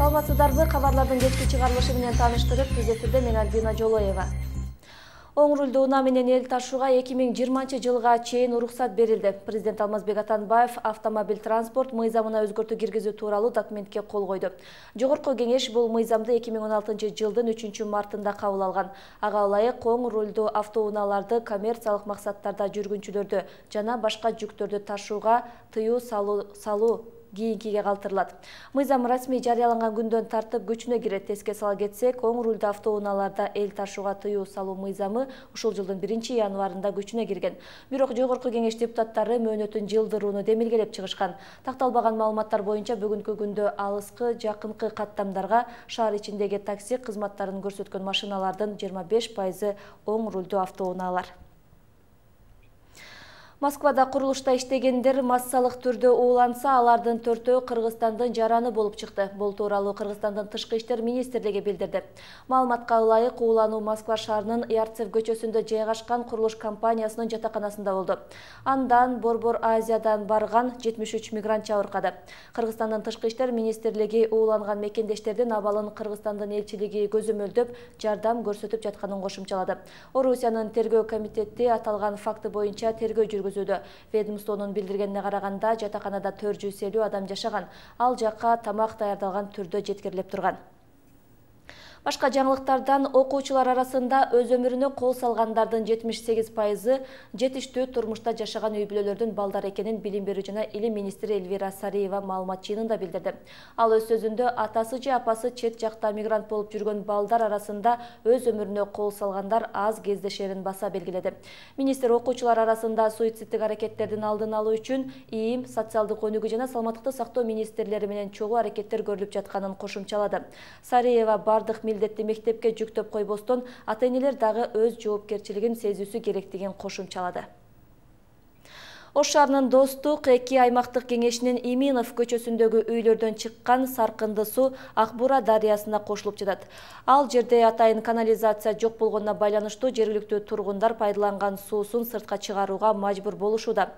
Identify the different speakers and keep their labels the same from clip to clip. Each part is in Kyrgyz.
Speaker 1: Саламатсыздарбы? Кабарлардын кечки чыгарылышы менен тааныштырып, биз эфирде мен Альбина Жолоева. Оң рулдуу унаа менен эл ташууга 2020-жылга чейин уруксат берилди. Президент Алмазбек Атамбаев автомобиль транспорт мыйзамына өзгөртүү киргизүү тууралуу документке кол койду. Жогорку кеңеш бул мыйзамды 2016-жылдын 3-мартында кабыл алган. Ага ылайык оң рулдуу автоунааларды коммерциялык максаттарда жүргүнчүлөрдү жана башка жүктөрдү ташууга тыюу салуу кийинкиге калтырылат. Мыйзам расмий жарыяланган күндөн тартып күчүнө кирет. Эске сала кетсек, оң рулдуу автоунааларда эл ташууга тыюу салуу мыйзамы ушул жылдын 1-январында күчүнө кирген. Бирок Жогорку кеңеш депутаттары мөөнөтүн жылдырууну демилгелеп чыгышкан. Такталбаган маалыматтар боюнча бүгүнкү күндө алыскы, жакынкы каттамдарга шаар ичиндеги такси кызматтарын көрсөткөн машиналардын 25% оң рулдуу автоунаалар. Москвада курулушта иштегендер массалык түрдө ууланса, алардын 4-өө Кыргызстандын жараны болуп чыкты. Бул тууралуу Кыргызстандын Тышкы иштер министрлиги билдирди. Маалыматка ылайык уулануу Москва шаарынын Ярцев көчөсүндө жайгашкан курулуш компаниясынын жатаканасында болду. Андан Борбор Азиядан барган 73 мигрант жабыркады. Кыргызстандын Тышкы иштер министрлиги ууланган мекендештердин абалын Кыргызстандын элчилиги көзөмөлдөп, жардам көрсөтүп жатканын кошумчалады. Орусиянын тергөө комитети аталган факты боюнча тергөө жүргүзүүдө. Ведомствонун билдиргенине караганда, жатаканада 450 адам жашаган. Ал жакка тамак даярдалган түрдө жеткирилип турган. Башка жаңылыктардан окуучулар арасында өз өмүрүнө кол салгандардын 78% жетиштүү турмушта жашаган үй бүлөлөрдүн балдары экенин билим берүү жана илим министри Элвира Сариева маалымат жыйынында билдирди. Ал өз сөзүндө атасы же апасы чет жакта мигрант болуп жүргөн балдар арасында өз өмүрүнө кол салгандар аз кездешерин баса белгиледи. Министр окуучулар арасында суицидтик аракеттердин алдын алуу үчүн ИИМ, социалдык өнүгүү жана саламаттыкты сактоо министрлери менен чогуу аракеттер көрүлүп жатканын кошумчалады. Сариева бардык милдетти мектепке жүктөп койбостон, ата-энелер дагы өз жоопкерчилигин сезүүсү керектигин кошумчалады. Ош шаарынын Достук 2 аймактык кеңешинин Иминов көчөсүндөгү үйлөрдөн чыккан саркынды суу Акбура дарыясына кошулуп жатат. Ал жерде атайын канализация жок болгонуна байланыштуу жергиликтүү тургундар пайдаланган суусун сыртка чыгарууга мажбур болушууда.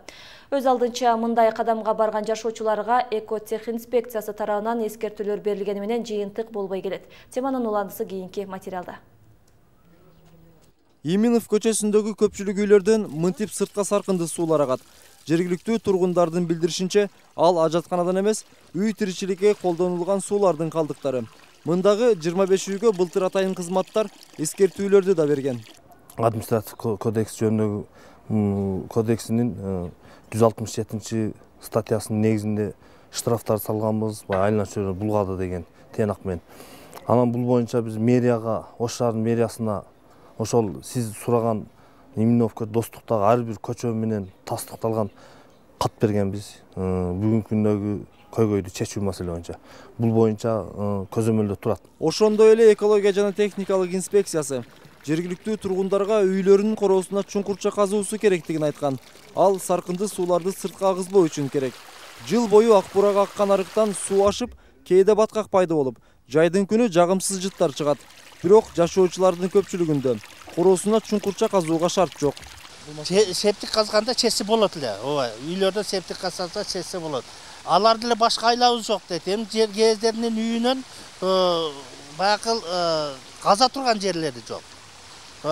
Speaker 1: Өз алдынча мындай кадамга барган жашоочуларга экотех инспекциясы тарабынан эскертүүлөр берилгени менен жыйынтык болбой келет. Теманын уландысы кийинки материалда.
Speaker 2: Иминов көчөсүндөгү көпчүлүк үйлөрдөн мынтип сыртка саркынды суулар агат. Жергиликтүү тургундардын билдиришинче, ал ажатканадан эмес, үй тиричиликке колдонулган суулардын калдыктары. Мындагы 25 үйгө былтыр атайын кызматтар эскертүүлөрдү да берген.
Speaker 3: Административдик кодекс жөнүндөгү кодексинин 167 статьясынын негизинде штрафтар салганбыз, айлана чөйрөнү булгады деген тыянак менен. Анан бул боюнча биз мэрияга, Ош шаарынын мэриясына ошол сиз сураган Иминовко Достуктагы ар бир көчө менен тастыкталган кат бергенбиз. Бүгүнкү күндөгү көйгөйдү чечүү маселе боюнча. Бул боюнча көзөмөлдө турат.
Speaker 2: Ошондой эле экология жана техникалык инспекциясы жергиликтүү тургундарга үйлөрүнүн короосуна чуңкурча казуусу керектигин айткан. Ал саркынды сууларды сыртка агызбоо үчүн керек. Жыл бою Акбурага аккан арыктан суу ашып, кээде баткак пайда болуп, жайдын күнү жагымсыз жыттар чыгат. Бирок жашоочулардын көпчүлүгүндө короосуна чуңкурча казууга шарт жок.
Speaker 4: Септик казганда чечсе болот эле. Ооба, үйлөрдө септик казса чечсе болот. Алар деле башка айлабыз жок дейт. Эми жер кездеринин үйүнөн баягы каза турган жерлери жок.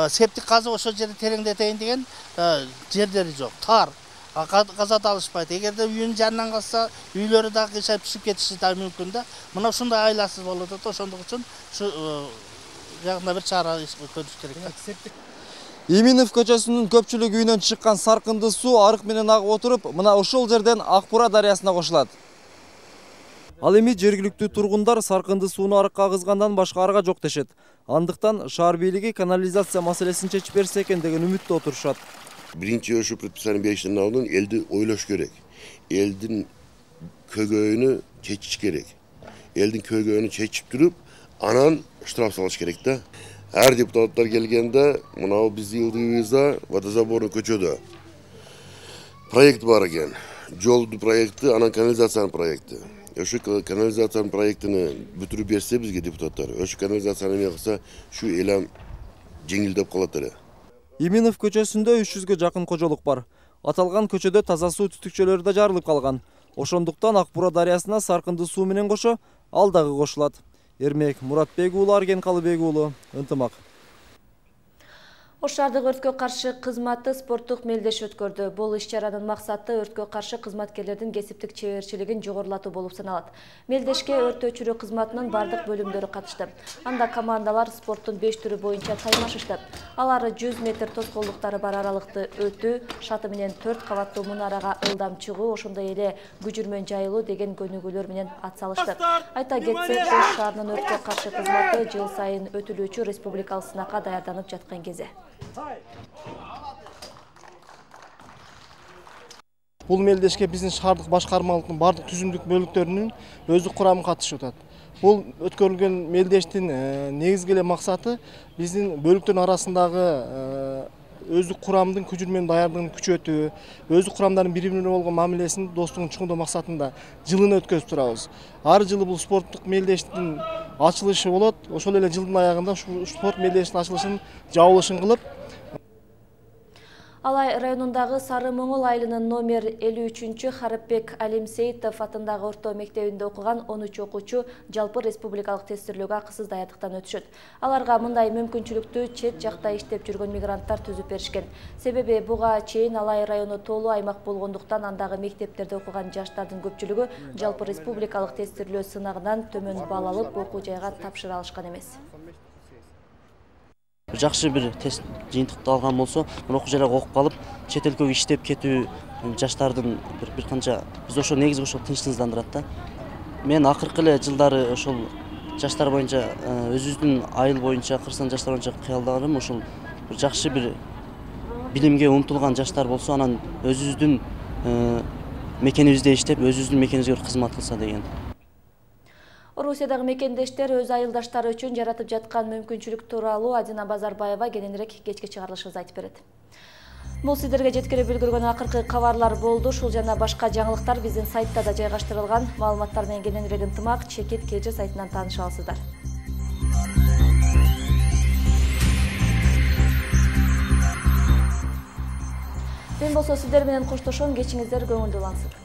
Speaker 4: Септик казып ошол жерди тереңдетейин деген жерлери жок. Тар. Казат алышпайт. Эгерде үйүнүн жанынан казса, үйлөрү дагы кыйшайып түшүп кетиши да мүмкүн да. Мына ушундай айласыз болот да, ошондук үчүн ушу жагында бир чара көрүш керек.
Speaker 2: Иминов көчөсүнүн көпчүлүк үйүнөн чыккан саркынды суу арык менен агып отуруп, мына ушул жерден Акбура дарыясына кошулат. Ал эми жергиликтүү тургундар саркынды сууну арыкка агызгандан башка арга жок дешет. Андыктан шаар бийлиги канализация маселесин чечип берсе экен деген үмүттө отурушат.
Speaker 5: Биринчи ошо предписание бериштердин алдын элди ойлош керек. Элдин көйгөйүнү чечиш керек. Элдин көйгөйүнү чечип туруп, анан штраф салыш керек да. Ар депутаттар келгенде, мына биздин йылдыгыбызда водозаборный көчөдө проект бар экен. Жолдун проекти, анан канализациянын проекти. Ошо канализациянын проектини бүтүрүп берсе бизге депутаттар, ошо канализацияны эме кылса, ушу элем жеңилдеп калат эле.
Speaker 2: Иминов көчөсүндө 300гө жакын кожолук бар. Аталган көчөдө таза суу түтүкчөлөрү да жарылып калган. Ошондуктан Акбура дарыясына саркынды суу менен кошо ал дагы кошулат. Эрмек Муратбек уулу, Арген Калыбек уулу, Ынтымак. Ош шаардык өрткө каршы кызматы спорттук мелдеш өткөрдү. Бул иш-чаранын максаты өрткө каршы кызматкерлердин кесиптик чеберчилигин жогорулатуу болуп саналат. Мелдешке өрт өчүрүү кызматынын бардык бөлүмдөрү катышты. Анда командалар спорттун 5 түрү боюнча таймашышты. Алар 100 метр тоскоолдуктары бар аралыкты өтүү, шаты менен 4 кабаттуу мунарага ылдам чыгуу, ошондой эле күжүрмөн жайылуу деген көнүгүүлөр менен атсалышты. Айта кетсек, Ош шаарынын өрткө каршы кызматы жыл сайын өтүлүүчү республикалык сынакка даярданып жаткан кезде.
Speaker 6: Бул мелдешке биздин шаардык башкармалыктын бардык түзүмдүк бөлүктөрүнүн өздүк курамы катышып атат. Бул өткөрүлгөн мелдештин негизги эле максаты биздин бөлүктөрдүн арасындагы өздүк курамдын күжүрмөнүн даярдыгын күчөтүү, өздүк курамдардын бири-бирине болгон мамилесин, достугун чоңдоо максатында жылын өткөзүп турабыз. Ар жылы бул спорттук мелдештин ачылышы болот. Ошол эле жылдын аягында ушул спорт мелдештин ачылышын жабылышын кылып,
Speaker 1: Алай районундагы Сары Моңол айылынын номер 53-чү Харипбек Алимсеитов атындагы орто мектебинде окуган 13 окуучу жалпы республикалык тестирлөөгө акысыз даярдыктан өтүшөт. Аларга мындай мүмкүнчүлүктү чет жакта иштеп жүргөн мигранттар түзүп беришкен. Себеби буга чейин Алай району тоолуу аймак болгондуктан андагы мектептерде окуган жаштардын көпчүлүгү жалпы республикалык тестирлөө сынагынан төмөн балл алып окуу жайга тапшыра алышкан эмес.
Speaker 7: Жакшы бир тест жыйынтыкты алган болсо, окуу жайга окуп калып, чет элге иштеп кетүү жаштардын бир канча биз ошо негизги ошол тынчсыздандырат да. Мен акыркы эле жылдары ошол жаштар боюнча өзүбүздүн айыл боюнча, кыргызстан жаштар боюнча кыялдарым ошол бир жакшы бир билимге умтулган жаштар болсо, анан өзүбүздүн мекенибизде иштеп, өзүбүздүн мекенибизге кызмат кылса деген.
Speaker 1: Орусиядагы мекендештер өз айылдаштары үчүн жаратып жаткан мүмкүнчүлүк тууралуу Адина Базарбаева кененирээк кечки чыгарылышыбызда айтып берет. Бул сиздерге жеткирип үлгүргөн акыркы кабарлар болду. Ушул жана башка жаңылыктар биздин сайтта да жайгаштырылган. Маалыматтар менен кененирээк Ынтымак Чекит КЖ сайтынан тааныша аласыздар. Мен болсо сиздер менен коштошом, кечиңиздер көңүлдүү улансын.